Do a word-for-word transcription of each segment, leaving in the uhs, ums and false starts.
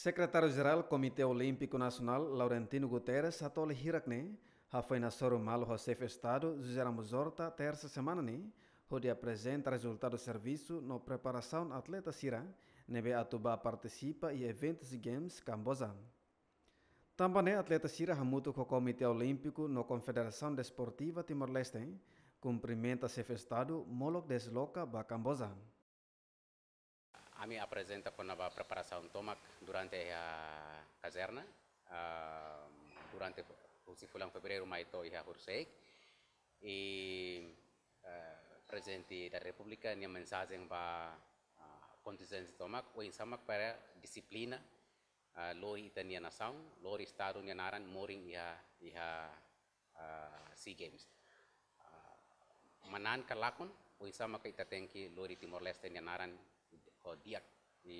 Sekretáriu-Jerál Komité Olímpiku Nasionál, Laurentino Guterres, hato'o hirak ne'e, hafoin hasoru malu ho Xefe Estadu, José Ramos Horta, tersa semana ne'e, hodi aprezenta rezultadu servisu no preparasaun atleta sira ne'ebé atu bá partisipa iha eventu SEA Games Kamboja. Tanba ne'e atleta sira hamutuk ho Komité Olímpiku no Konfederasaun Desportiva Timor-Leste kumprimenta Xefe Estadu molok desloka ba Kamboja. Ami aprezenta kona-ba preparasaun tomak durante iha kazerna, ah, durante husi fulan Fevereiru mai to'o iha Hurseik. I, eh, Prezidente da Repúblika nia mensajen ba, ah, kontinjente tomak, oinsá mak para dixiplina, ah, lori ita-nia nasaun, lori Estadu nia naran morin iha, iha, ah, SEA Games. Ah, manán ka lakon, oinsá maka ita tenke lori Timor-Leste nia naran ho di'ak, i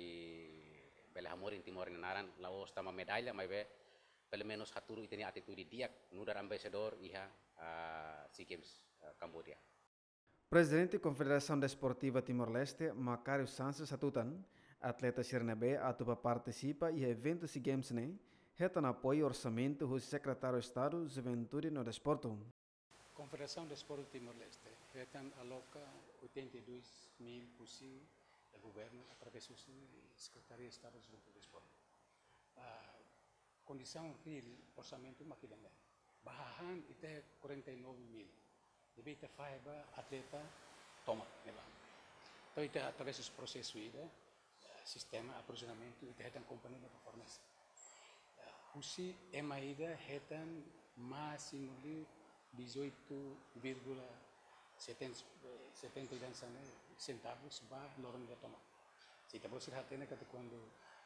bele hamorin Timor nia naran, la'ós tanba medalla, maibé pelumenus hatudu ita-nia atitude di'ak, nu'udar embaixadór iha, ah, SEA Games, ah, Kamboja. Prezidente Konfederasaun Desportiva Timor-Leste, Macário Sanches hatutan, atleta sira ne'ebé atu bá partisipa iha eventu SEA Games ne'e, hetan apoiu orsamentu husi Sekretáriu Estadu Juventude no Desportu. Konfederasaun Desportu Timor-Leste hetan aloka oitenta e dois mil husi governu através husi Sekretaria Estadu Juventude Desportu. Ah, kondisaun reál orsamentu mak ida-ne'e. Ba hahán ita quarenta e nove mil. Ne'ebé ita fahe ba atleta tomak ne'ebá. Entaun ita através husi prosesu ida, eh, sistema aprovizionamentu ita hetan kompañia ne'ebé fornese. Eh, husi ema ida hetan másimu de dezoito vírgula setenta, eh, setenta e dansa ne'e centavos ba loron ida tomak. Se ita-boot sira hatene katak kuandu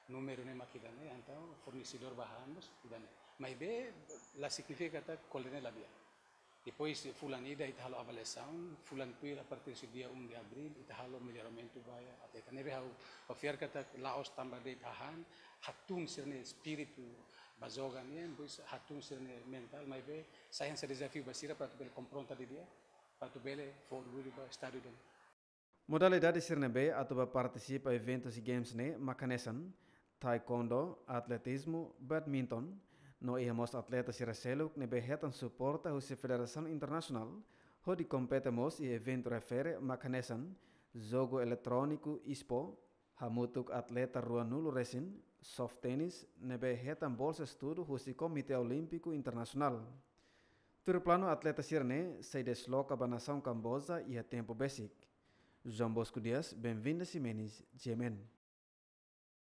númeru ne'e mak ida-ne'e, entaun fornesedór ba hahán mós ida-ne'e. Maibé la signifika katak ko'alia ne'e la di'ak. Depois fulan ida ita halo avaliasaun, fulan tuir a partir de dia um de abril ita halo melloramentu ba iha atleta. Ne'ebé ha'u, ha'u fiar katak la'ós tanba de'it hahán, hatún sira-nia espíritu ba joga nian, depois hatún sira-nia mentál, maibé sai hanesan dezafiu ba sira para atu bele konfronta didi'ak, para atu bele fó orgullu ba Estadu ida-ne'e. Modalidade sira ne'ebé atu bá partisipa eventu SEA Games ne'e mak hanesan taekwondo, atletizmu, badminton, no iha mós atleta sira seluk ne'ebé hetan suporta husi federasaun internasionál, hodi kompete mós iha eventu refere mak hanesan jogu eletróniku ispo, hamutuk atleta ruanulu resin, soft tennis, ne'ebé hetan bolsa estudu husi Komité Olímpiku Internasionál. Tuir planu atleta sira ne'e sei desloka ba nasaun Kamboja iha tempu besik. João Bosco Dias, Benvinda Ximenes, G M N.